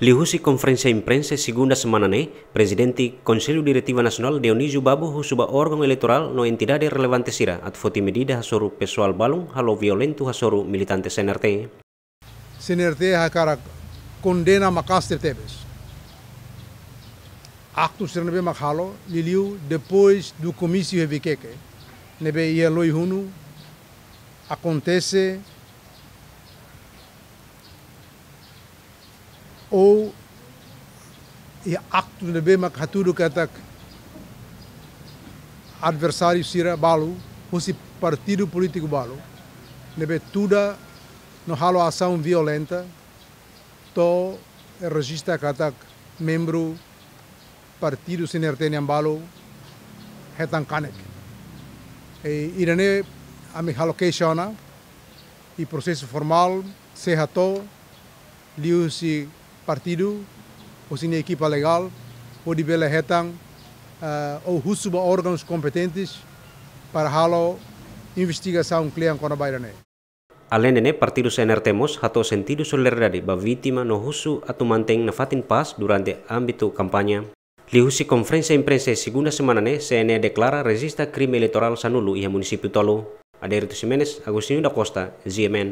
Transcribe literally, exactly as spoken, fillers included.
Liuhusi konferénsia imprensa segunda semana ne'e, Prezidente Konsellu Diretiva Nasionál Dionísio Babo husu ba órgaun eleitorál no entidade relevante sira atu foti medida hasoru pesoál balun halo violentu hasoru militante C N R T. C N R T hakarak kondena maka'as tebetebes aktu sira ne'ebé mak halo, liuliu depois do komísiu iha Viqueque, ne'ebé iha Loihunu akontese ou iha aktu ne'ebé mak hatudu katak adversáriu sira balu, husi partidu polítiku balu, ne'ebé tuda no halo asaun violenta, to'o rejista katak membru partidu C N R T nian balu hetan kanek. I ida-ne'e ami halo keixa ona, i prosesu formál sei hato'o liuhusi partidu, husi nia ekipa legál, hodi bele hetan, eh, ou husu ba órgaun kompetente para halo investigasaun kle'an kona-ba ida-ne'e. Alende ne'e, partidu C N R T mós hato'o sentidu solidariedade ba vítima no husu atu mantein nafatin pás durante ámbitu kampaña. Liuhusi konferénsia imprensa segunda semana ne'e, C N E deklara rejista krime eleitorál sanulu iha munisípiu tolu. Adérito Ximenes, Agostinho da Costa, G M N.